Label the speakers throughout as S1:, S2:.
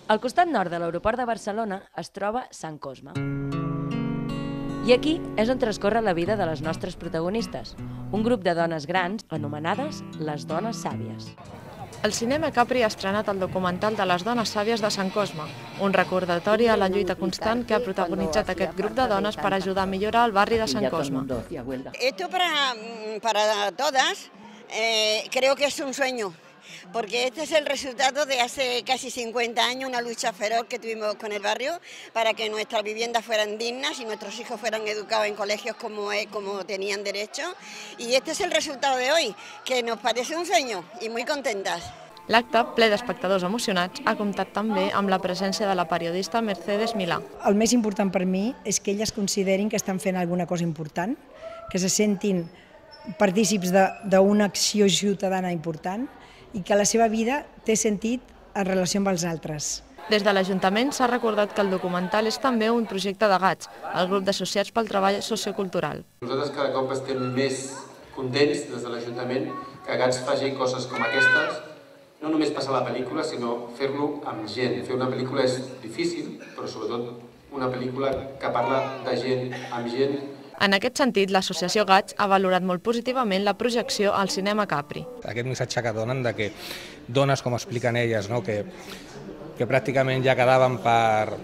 S1: Al costat nord de l'aeroport de Barcelona es troba Sant Cosme. I aquí és on transcorre la vida de les nostres protagonistes, un grup de dones grans anomenades les dones sàvies.
S2: El Cinema Capri ha estrenat el documental de les dones sàvies de Sant Cosme, un recordatori a la lluita constant que ha protagonitzat aquest grup de dones per ajudar a millorar el barri de Sant Cosme.
S3: Esto para todas creo que es un sueño, porque este es el resultado de hace casi 50 años, una lucha feroz que tuvimos con el barrio para que nuestras viviendas fueran dignas y nuestros hijos fueran educados en colegios como tenían derecho. Y este es el resultado de hoy, que nos parece un sueño y muy contentas.
S2: L'acte, ple d'espectadors emocionats, ha comptat també amb la presència de la periodista Mercedes Milà.
S4: El més important per mi és que elles considerin que estan fent alguna cosa important, que se sentin partícips d'una acció ciutadana important i que la seva vida té sentit en relació amb els altres.
S2: Des de l'Ajuntament s'ha recordat que el documental és també un projecte de GATS, el grup d'associats pel treball sociocultural.
S5: Nosaltres cada cop estem més contents des de l'Ajuntament que GATS faci coses com aquestes, no només passar la pel·lícula, sinó fer-lo amb gent. Fer una pel·lícula és difícil, però sobretot una pel·lícula que parla de gent amb gent.
S2: En aquest sentit, l'associació GATS ha valorat molt positivament la projecció al Cinema Capri.
S6: Aquest missatge que donen de que dones, com expliquen elles, que pràcticament ja quedaven per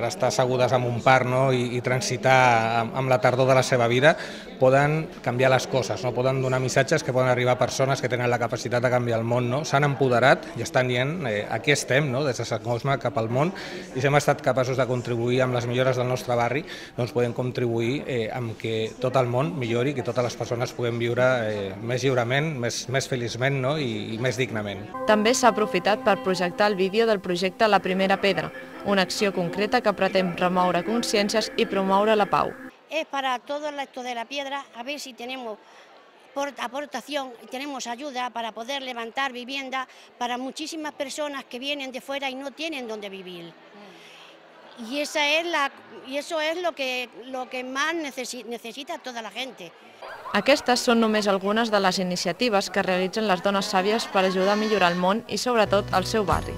S6: estar assegudes en un parc i transitar amb la tardor de la seva vida, poden canviar les coses, poden donar missatges que poden arribar a persones que tenen la capacitat de canviar el món. S'han empoderat i estan dient aquí estem, des de Sant Cosme cap al món, i si hem estat capaços de contribuir amb les millores del nostre barri, doncs podem contribuir amb que tot el món millori, que totes les persones puguem viure més lliurement, més feliçment i més dignament.
S2: També s'ha aprofitat per projectar el vídeo del projecte La Primera Pedra, una acció concreta que pretén remoure consciències i promoure la pau.
S7: Es para todo esto de la piedra, a ver si tenemos aportación y tenemos ayuda para poder levantar vivienda para muchísimas personas que vienen de fuera y no tienen dónde vivir. Y eso es lo que más necesita toda la gente.
S2: Aquestes són només algunes de les iniciatives que realitzen les dones sàvies per ajudar a millorar el món i sobretot el seu barri.